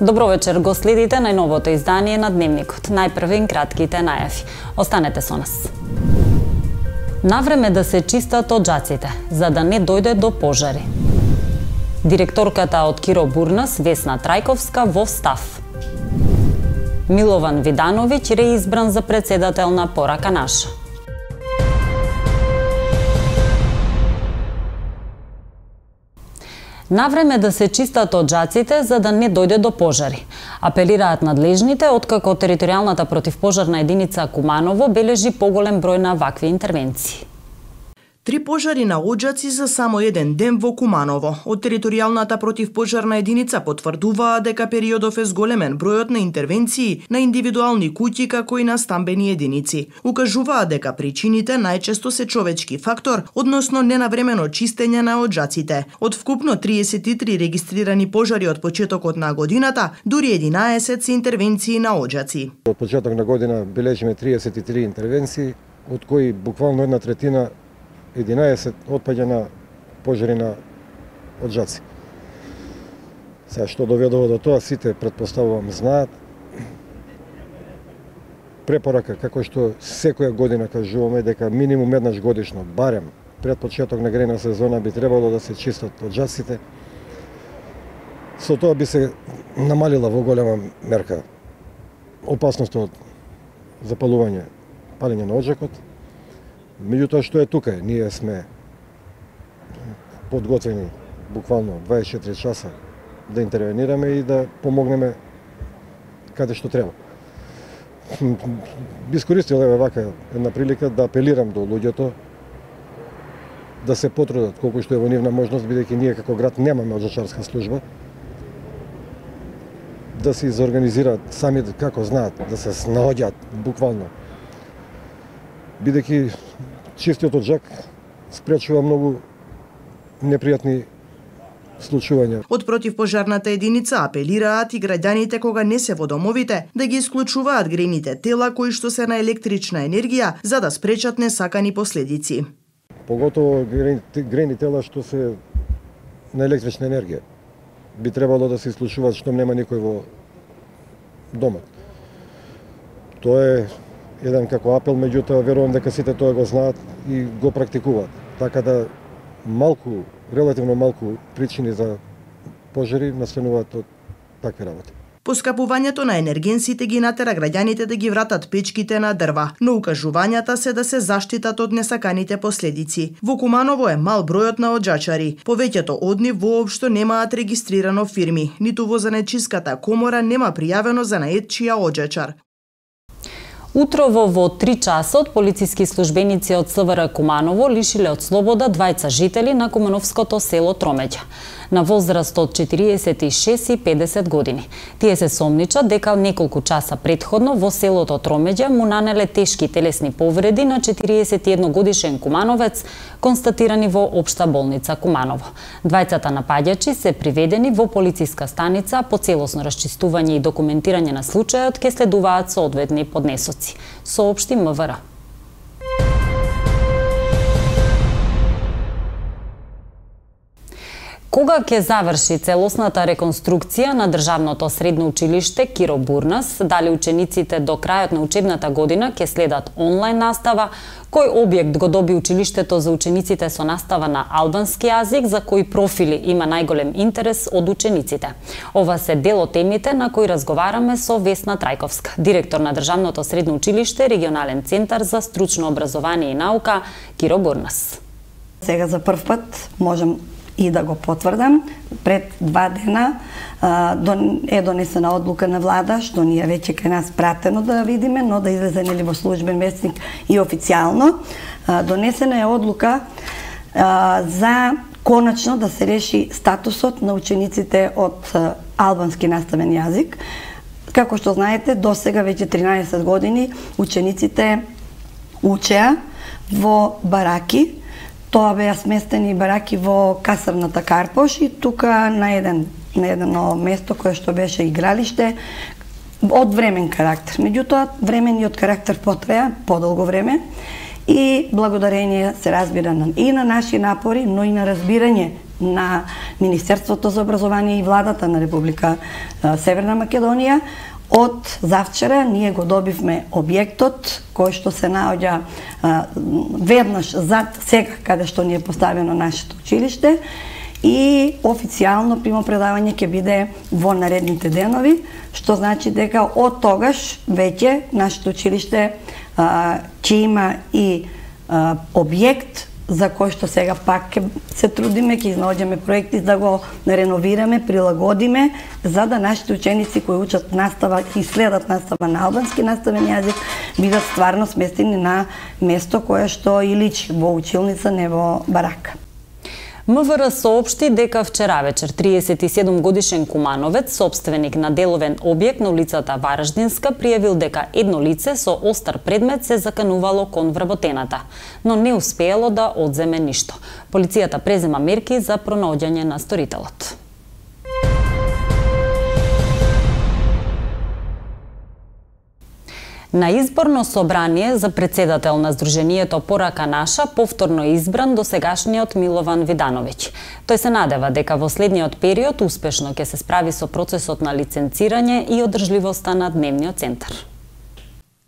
Добро вечер, го следите најновото издание на Дневникот. Најпрвен кратките најави. Останете со нас. Навреме да се чистат оджаците, за да не дојде до пожари. Директорката од Киро Бурнас, Весна Трајковска, во став. Милован Видановиќ реизбран за председател на Порака наша. Навреме да се чистат оджаците за да не дојде до пожари. Апелираат надлежните, откако територијалната противпожарна единица Куманово бележи поголем број на вакви интервенции. 3 пожари на оджаци за само еден ден во Куманово. Од територијалната противпожарна единица потврдуваа дека периодов е зголемен бројот на интервенции на индивидуални куќи како и на стамбени единици. Укажуваа дека причините најчесто се човечки фактор, односно ненавремено чистење на оджаците. Од вкупно 33 регистрирани пожари од почетокот на годината, дури 11 се интервенции на оджаци. Од почеток на година бележиме 33 интервенции, од кои буквално 1/3 11 отпаѓа на пожари на оджаци. Сега што доведува до тоа, сите претпоставувам знаат. Препорака, како што секоја година кажуваме, дека минимум еднаш годишно, барем пред почеток на грејна сезона би требало да се чистат оджаците. Со тоа би се намалила во голема мерка опасноста од запалување, палење на оджакот. Меѓутоа што е тука, ние сме подготвени буквално 24 часа да интервенираме и да помогнеме каде што треба. Би искористил вака една прилика да апелирам до луѓето да се потрудат колку што е во нивна можност, бидејќи ние како град немаме оджачарска служба, да се изорганизираат сами како знаат, да се снаоѓаат буквално. Бидејќи чистиот оджак спречува многу непријатни случувања. Од противпожарната единица апелираат и граѓаните кога не се во домовите да ги исклучуваат грејните тела кои што се на електрична енергија за да спречат несакани последици. Поготово грејни тела што се на електрична енергија би требало да се исклучуваат што нема никој во домот. Тоа е еден како апел, меѓутоа верувам дека сите тоа го знаат и го практикуваат. Така да релативно малку причини за пожари настануваат од такви работи. Поскапувањето на енергенсите ги натера граѓаните да ги вратат печките на дрва, но укажувањата се да се заштитат од несаканите последици. Во Куманово е мал бројот на оджачари. Повеќето од нив воопшто немаат регистрирано фирми, ниту во Занечиската комора нема пријавено занаед чија оджачар. Утрово во 3 часот полициски службеници од СВР Куманово лишиле од слобода двајца жители на кумановското село Тромеѓа, на возраст од 46 и 50 години. Тие се сомничат дека неколку часа претходно во селото Тромеѓа му нанеле тешки телесни повреди на 41 годишен кумановец, констатирани во Општа болница Куманово. Двајцата напаѓачи се приведени во полициска станица, по целосно расчистување и документирање на случајот ке следуваат соодветни поднесоци, соопшти МВР. Кога ќе заврши целосната реконструкција на државното средно училиште Киро Бурнас, дали учениците до крајот на учебната година ќе следат онлайн настава, кој објект го доби училиштето за учениците со настава на албански јазик, за кои профили има најголем интерес од учениците. Ова се дел од темите на кои разговараме со Весна Трајковска, директор на државното средно училиште, регионален центар за стручно образование и наука Киро Бурнас. Сега за прв пат можам и да го потврдам, пред 2 дена е донесена одлука на влада, што ние веќе кај нас пратено да видиме, но да излезе нели во службен вестник и официјално. Донесена е одлука за конечно да се реши статусот на учениците од албански наставен јазик. Како што знаете, досега веќе 13 години учениците учеа во бараки. Тоа беа сместени бараки во касарната Карпош и тука на едно место кое што беше игралиште од времен карактер. Меѓутоа, времениот карактер потраја подолго време и благодарение се разбира и на наши напори, но и на разбирање на Министерството за образование и владата на Република Северна Македонија. Од завчера ние го добивме објектот кој што се наоѓа веднаш зад сега каде што ни е поставено нашето училиште и официјално примопредавање ќе биде во наредните денови, што значи дека од тогаш веќе нашето училиште ќе има и објект за кој што сега пак ќе се трудиме, ќе изнаоѓаме проекти да го реновираме, прилагодиме, за да нашите ученици кои учат настава и следат настава на албански наставен јазик бидат стварно сместени на место кое што и личи во училница, не во барака. МВР соопшти дека вчера вечер 37 годишен кумановец, собственик на деловен објект на улицата Вараждинска, пријавил дека едно лице со остар предмет се заканувало кон вработената, но не успеело да одземе ништо. Полицијата презема мерки за пронаоѓање на сторителот. На изборно собрание за председател на Сдруженијето Порака наша повторно избран досегашниот Милован Видановиќ. Тој се надева дека во следниот период успешно ќе се справи со процесот на лиценцирање и одржливоста на дневниот центар.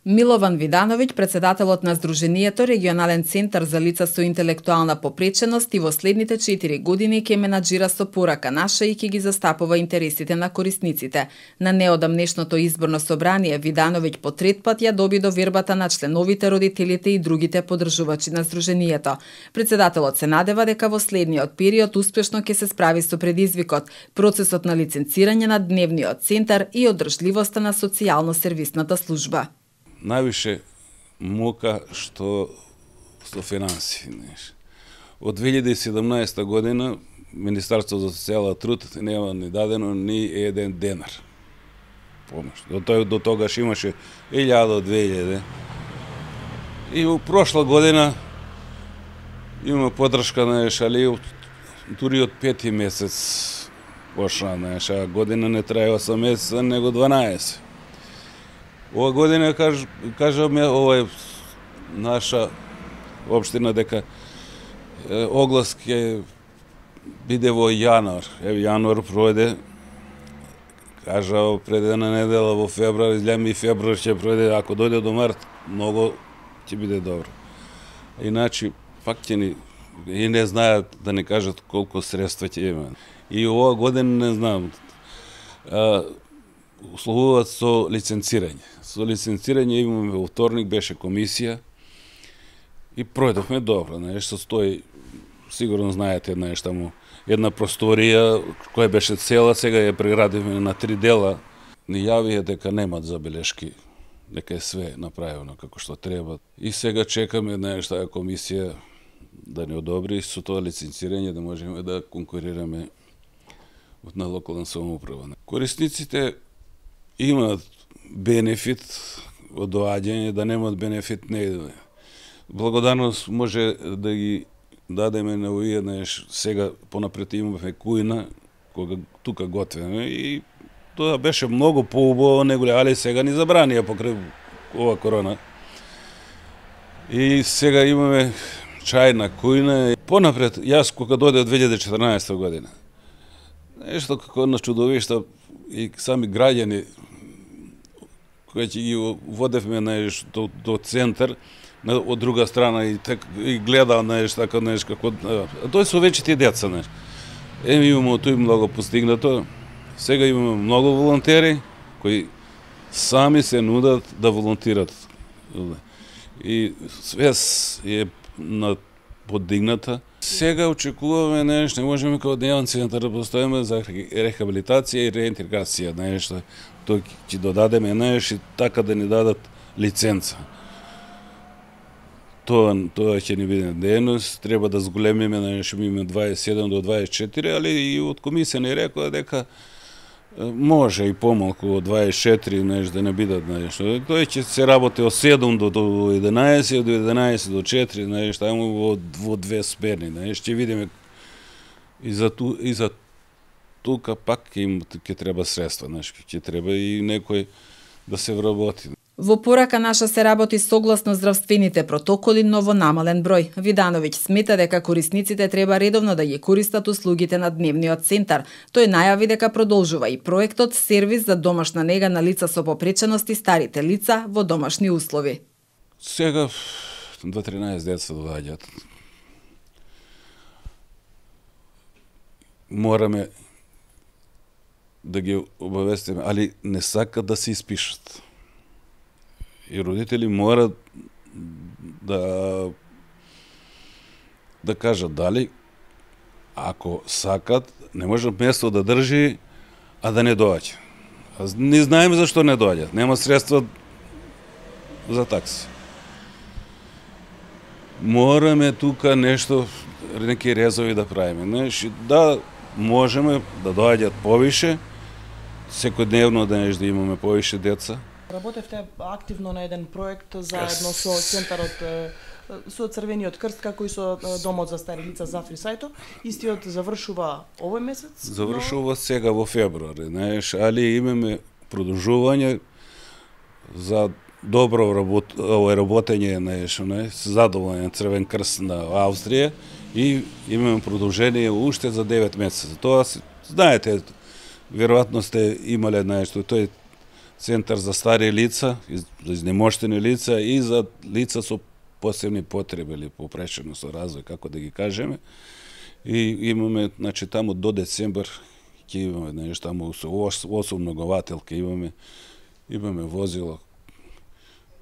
Милован Видановиќ, председателот на Сдруженијето Регионален центар за лица со интелектуална попреченост, и во следните 4 години ќе менаџира со Порака наша и ќе ги застапува интересите на корисниците. На неодамнешното изборно собрание Видановиќ по трет пат ја доби довербата на членовите, родителите и другите поддржувачи на Сдруженијето. Председателот се надева дека во следниот период успешно ќе се справи со предизвикот, процесот на лиценцирање на дневниот центар и одржливоста на социјално-сервисната служба. Највише мука што со финанси. Од 2017 година Министерство за социјален труд нема ни дадено ни еден денар помош. До тогаш имаше 1000-2000. И у прошла година има поддршка на ешали дури од 5 месец пошла на еша година не трае 8 месеца, него 12. Ова година кажаме ова наша општина дека оглас ќе биде во јануар. Јануар пројде, кажа пред една недела во февруар, изгледам и февруар ќе пројде, ако дојде до март, многу ќе биде добро. Иначе пак ќе ни и не знаат да ни кажат колку средства ќе има. И ова година не знам. Условуваат со лиценцирање. Со лиценцирање имаме во вторник, беше комисија и пројдовме добро. Нешто стои, сигурно знаете, таму една просторија која беше цела, сега ја преградивме на 3 дела. Ни јавија дека немат забелешки, дека е све направено како што треба. И сега чекаме таа комисија да ни одобри со тоа лиценцирање да можеме да конкурираме на локална самоуправа. Корисниците имаат бенефит од доаѓање, да немаат бенефит не е. Благодарност може да ги дадеме на овие, сега понапред имаме кујна, кога тука готвеме и тоа беше многу поубаво него, али сега ни забранија покрај ова корона. И сега имаме чајна кујна. Понапред, јас кога дојде од 2014 година, нешто како на чудовишта и сами граѓани кои ќе ги водевме до центар, од друга страна и гледал како тој со вечите деца. Имаме тој многу постигнато. Сега имаме многу волонтери кои сами се нудат да волонтират. И свест е подигната. Сега очекуваме не можеме како дневен центар да постоиме за рехабилитација и реинтеграција, тој ќе додадеме и така да ни дадат лиценца. Тоа ќе ни биде дејност, треба да зголемиме, имаме 27 до 24, али и од комисија ни рекоа дека може и помалку од 24 да не бидат Тој ќе се работи од 7 до 11, од 11 до 4, таму во 2 смени, ќе видиме и за тука пак ќе треба средства, ќе треба и некој да се вработи. Во порака наша се работи согласно здравствените протоколи, но во намален број. Видановиќ смета дека корисниците треба редовно да ги користат услугите на дневниот центар. Тој најави дека продолжува и проектот сервис за домашна нега на лица со попреченост и старите лица во домашни услови. Сега 2-13 деца доаѓаат. Мораме да ги обавестиме, али не сакат да се испишат. И родители морат да кажат дали ако сакат, не може место да држи, а да не доаѓа. Не знаеме зашто не доаѓаат. Нема средства за такси. Мораме тука нешто, неки резови да правиме. Да можеме да доаѓаат повише, секојдневно да имаме повише деца. Работевте активно на еден проект заедно со центарот со Црвениот крст, како и со домот за стари лица за Фрисајто. Истиот завршува овој месец? Завршува сега во февруари, знаеш, али имаме продолжување за добро работење, знаеш, задоволен Црвен крст на Австрија и имаме продолжение уште за 9 месеца. Тоа знаете, веројатно сте имале, знаеш, тој центар за стари лица, за изнемоштени лица и за лица со посебни потреби или попреченост со развој, како да ги кажеме. И имаме, значи, таму до децембар ќе имаме, знаеш, таму со 8 многователки имаме возила,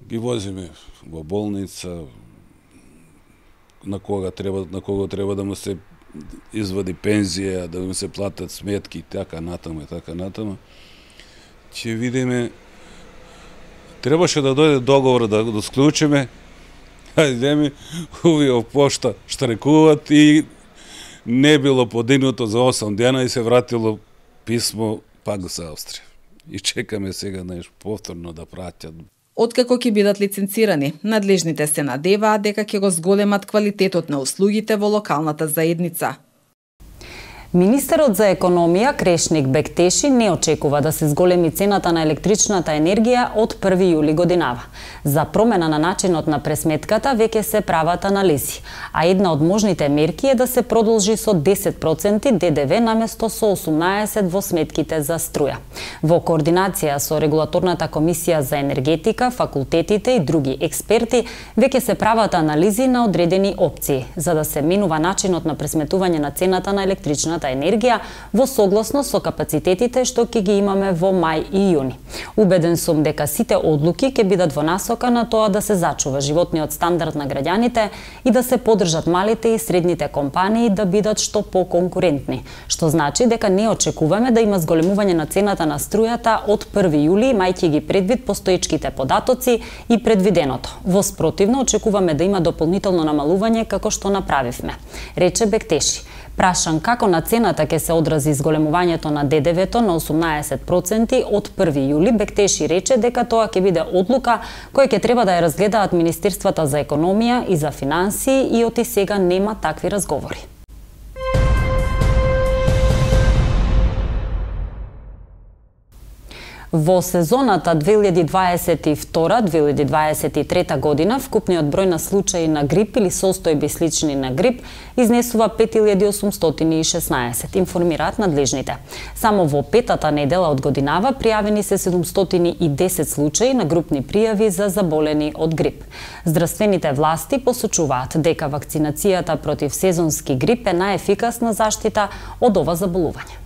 ги возиме во болница, на кого треба да му се извади пензија, да му се платат сметки, така натаму. Ќе видиме, требаше да дојде договор да склучиме, идеме, овие пошта штрекуваат и не било подигнуто за 8 дена и се вратило писмо пак за Австрија. И чекаме сега повторно да праќат. Откако ќе бидат лиценцирани, надлежните се надеваат дека ќе го зголемат квалитетот на услугите во локалната заедница. Министерот за економија Крешник Бектеши не очекува да се зголеми цената на електричната енергија од 1 јули годинава. За промена на начинот на пресметката веќе се прават анализи, а една од можните мерки е да се продолжи со 10% ДДВ наместо со 18% во сметките за струја. Во координација со Регулаторната комисија за енергетика, факултетите и други експерти веќе се прават анализи на одредени опции за да се менува начинот на пресметување на цената на електричната енергија во согласно со капацитетите што ќе ги имаме во мај и јуни. Убеден сум дека сите одлуки ќе бидат во насока на тоа да се зачува животниот стандард на граѓаните и да се поддржат малите и средните компании да бидат што поконкурентни, што значи дека не очекуваме да има зголемување на цената на струјата од 1 јули, имајќи ги предвид постоечките податоци и предвиденото. Во спротивно очекуваме да има дополнително намалување како што направивме, рече Бектеши. Прашан како на цената ќе се одрази зголемувањето на ДДВ-то на 18% од 1 јули, Бектеши рече дека тоа ќе биде одлука која ќе треба да ја разгледаат Министерствата за економија и за финансии и оти сега нема такви разговори. Во сезоната 2022-2023 година вкупниот број на случаи на грип или состојби слични на грип изнесува 5816, информираат надлежните. Само во петата недела од годинава пријавени се 710 случаи на групни пријави за заболени од грип. Здравствените власти посочуваат дека вакцинацијата против сезонски грип е најефикасна заштита од ова заболување.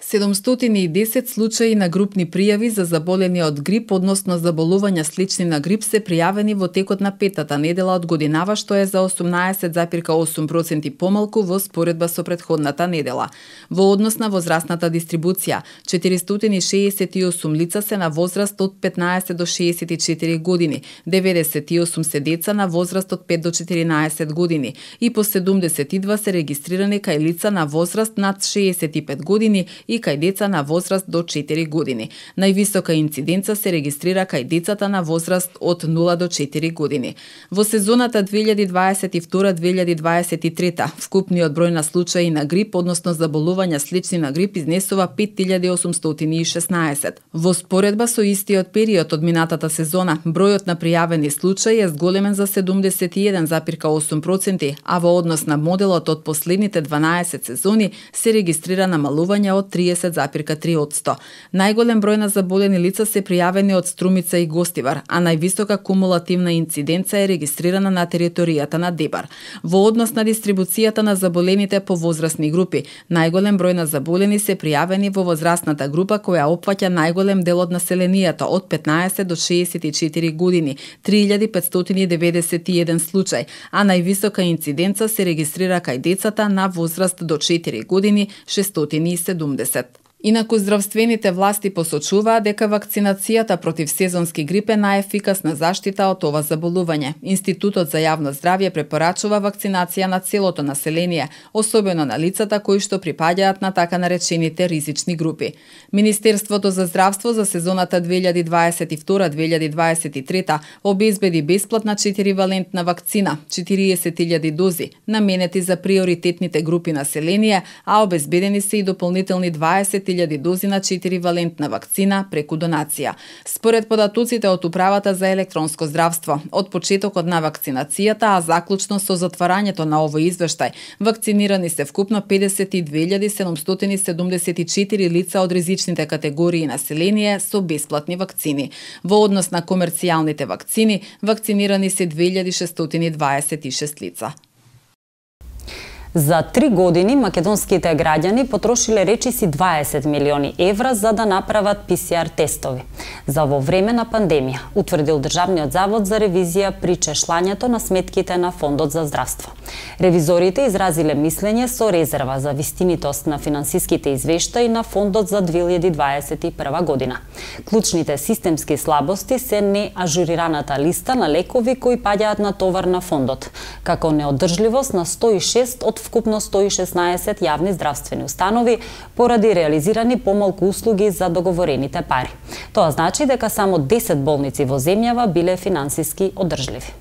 710 случаи на групни пријави за заболени од грип, односно заболувања слични на грип, се пријавени во текот на петата недела од годинава, што е за 18,8% помалку во споредба со претходната недела. Во однос на возрастната дистрибуција, 468 лица се на возраст од 15 до 64 години, 98 се деца на возраст од 5 до 14 години и по 72 се регистрирани кај лица на возраст над 65 години и и кај деца на возраст до 4 години. Највисока инциденца се регистрира кај децата на возраст од 0 до 4 години. Во сезоната 2022-2023 вкупниот број на случаи на грип, односно заболувања слични на грип, изнесува 5816. Во споредба со истиот период од минатата сезона, бројот на пријавени случаи е зголемен за 71,8%, а во однос на моделот од последните 12 сезони се регистрира намалување од 30,3%. Најголем број на заболени лица се пријавени од Струмица и Гостивар, а највисока кумулативна инциденца е регистрирана на територијата на Дебар. Во однос на дистрибуцијата на заболените по возрастни групи, најголем број на заболени се пријавени во возрастната група која опфаќа најголем дел од населението од 15 до 64 години, 3591 случај, а највисока инциденца се регистрира кај децата на возраст до 4 години, 670. Инаку здравствените власти посочуваат дека вакцинацијата против сезонски грип е најефикасна заштита од ова заболување. Институтот за јавно здравје препорачува вакцинација на целото население, особено на лицата кои што припаѓаат на така наречените ризични групи. Министерството за здравство за сезоната 2022-2023 обезбеди бесплатна 4-валентна вакцина, 40.000 дози, наменети за приоритетните групи население, а обезбедени се и дополнителни 20.000 дози на 4-валентна вакцина преку донација. Според податоците од Управата за електронско здравство, од почетокот на вакцинацијата, а заклучно со затварањето на овој извештај, вакцинирани се вкупно 52.774 лица од ризичните категории население со бесплатни вакцини. Во однос на комерцијалните вакцини, вакцинирани се 2626 лица. За 3 години македонските граѓани потрошиле речиси 20 милиони евра за да направат ПСР тестови. За во време на пандемија, утврдил Државниот завод за ревизија при чешлањето на сметките на Фондот за здравство. Ревизорите изразиле мислење со резерва за вистинитост на финансиските извештаи на Фондот за 2021 година. Клучните системски слабости се неажурираната листа на лекови кои паѓаат на товар на Фондот, како неодржливост на 106 од вкупно 116 јавни здравствени установи поради реализирани помалку услуги за договорените пари. Тоа значи дека само 10 болници во земјава биле финансиски одржливи.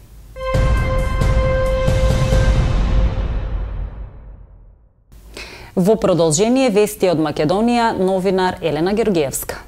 Во продолжение вести од Македонија, новинар Елена Георгиевска.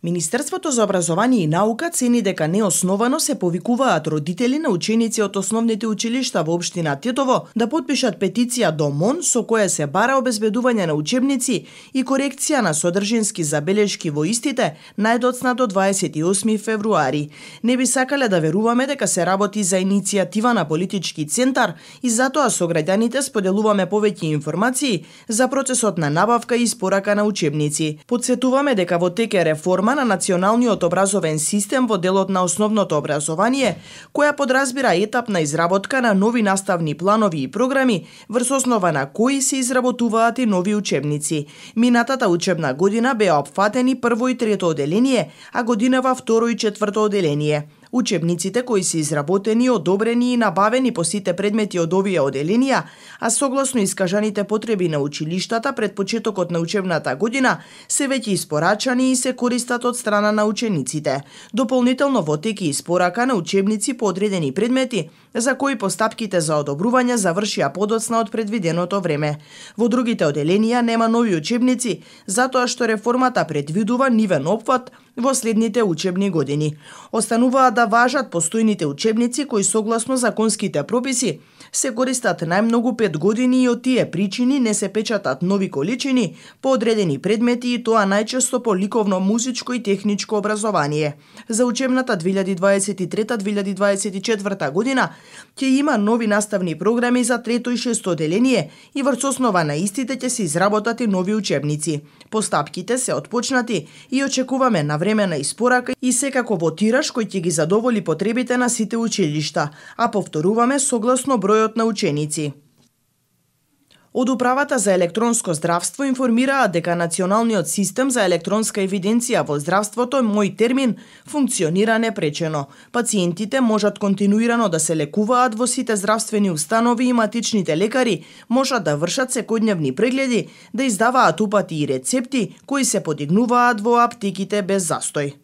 Министерството за образование и наука цени дека неосновано се повикуваат родители на ученици од основните училишта во општина Тетово да потпишат петиција до МОН со која се бара обезбедување на учебници и корекција на содржински забелешки во истите најдоцна до 28 февруари. Не би сакале да веруваме дека се работи за иницијатива на политички центар и затоа со граѓаните споделуваме повеќе информации за процесот на набавка и испорака на учебници. Потсетуваме дека во тек е реформа на националниот образовен систем во делот на основното образование, која подразбира етапна изработка на нови наставни планови и програми, врз основа на кои се изработуваат и нови учебници. Минатата учебна година беа опфатени прво и трето оделение, а годинава второ и четврто оделение. Учебниците кои се изработени, одобрени и набавени по сите предмети од овие оделенија, а согласно искажаните потреби на училиштата пред почетокот на учебната година, се веќе испорачани и се користат од страна на учениците. Дополнително во тек е испорака на учебници по одредени предмети, за кои постапките за одобрување завршија подоцна од предвиденото време. Во другите оделенија нема нови учебници, затоа што реформата предвидува нивен опфат во следните учебни години. Остануваат да важат постојните учебници кои согласно законските прописи се користат најмногу 5 години и од тие причини не се печатат нови количини по одредени предмети и тоа најчесто по ликовно, музичко и техничко образование. За учебната 2023-2024 година ќе има нови наставни програми за трето и шесто оделение и врз основа на истите ќе се изработат и нови учебници. Постапките се отпочнати и очекуваме навремена испорака и секако во тираж кој ќе ги задоволи потребите на сите училишта, а повторуваме согласно бројот на ученици. Од Управата за електронско здравство информираат дека Националниот систем за електронска евиденција во здравството Мој термин функционира непречено. Пациентите можат континуирано да се лекуваат во сите здравствени установи и матичните лекари можат да вршат секојдневни прегледи, да издаваат упати и рецепти кои се подигнуваат во аптеките без застој.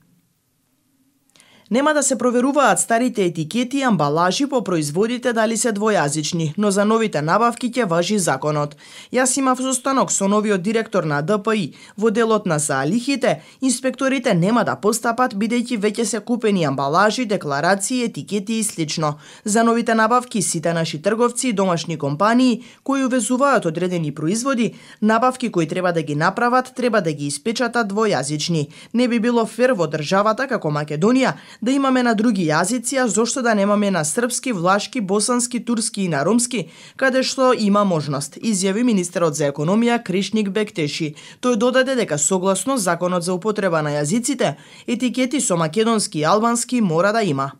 Нема да се проверуваат старите етикети и амбалажи по производите дали се двојазични, но за новите набавки ќе важи законот. Јас имав состанок со новиот директор на ДПИ. Во делот на заалихите, инспекторите нема да постапат бидејќи веќе се купени амбалажи, декларации, етикети и слично. За новите набавки сите наши трговци и домашни компании кои увезуваат одредени производи, набавки кои треба да ги направат, треба да ги испечатат двојазични. Не би било фер во државата како Македонија да имаме на други јазици, а зошто да немаме на српски, влашки, босански, турски и на ромски, каде што има можност, изјави министерот за економија Кришник Бектеши. Тој додаде дека согласно законот за употреба на јазиците, етикети со македонски и албански мора да има.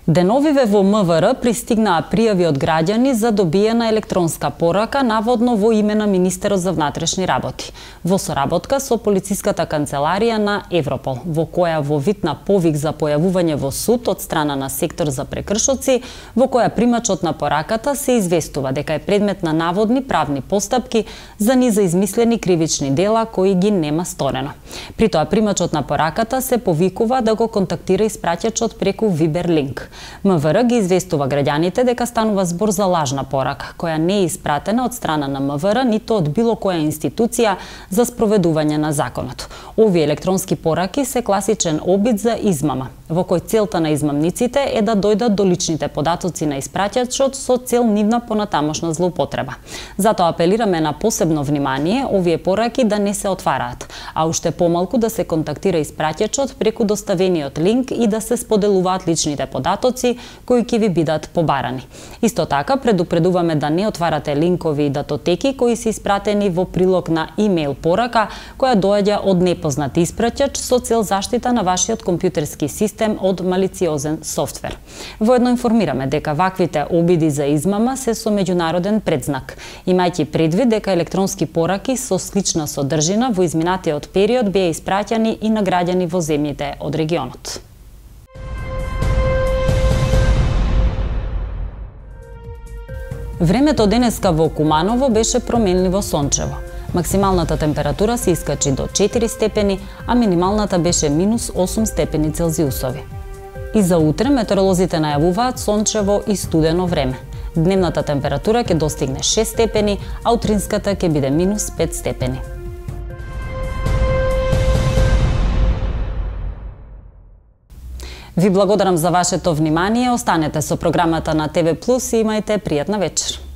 Деновиве во МВР пристигнаа пријави од граѓани за добиена електронска порака, наводно во име на министерот за внатрешни работи, во соработка со полициската канцеларија на Европол, во која во вид на повик за појавување во суд од страна на сектор за прекршоци, во која примачот на пораката се известува дека е предмет на наводни правни постапки за низа измислени кривични дела кои ги нема сторено. При тоа примачот на пораката се повикува да го контактира испраќачот преку Viber линк. МВР ги известува граѓаните дека станува збор за лажна порака, која не е испратена од страна на МВР ниту од било која институција за спроведување на законот. Овие електронски пораки се класичен обид за измама, во кој целта на измамниците е да дојдат до личните податоци на испраќачот со цел нивна понатамошна злоупотреба. Затоа апелираме на посебно внимание овие пораки да не се отвараат, а уште помалку да се контактира испраќачот преку доставениот линк и да се споделуваат личните податоци кои ќе ви бидат побарани. Исто така предупредуваме да не отварате линкови и датотеки кои се испратени во прилог на имејл порака која доаѓа од непознат испраќач со цел заштита на вашиот компјутерски систем од малициозен софтвер. Воедно информираме дека ваквите обиди за измама се со меѓународен предзнак, имајќи предвид дека електронски пораки со слична содржина во изминатиот период беа испраќани и на граѓани во земјите од регионот. Времето денеска во Куманово беше променливо сончево. Максималната температура се искачи до 4 степени, а минималната беше минус 8 степени Целзиусови. И за утре метеоролозите најавуваат сончево и студено време. Дневната температура ќе достигне 6 степени, а утринската ќе биде минус 5 степени. Ви благодарам за вашето внимание. Останете со програмата на ТВ Плюс и имајте пријатна вечер.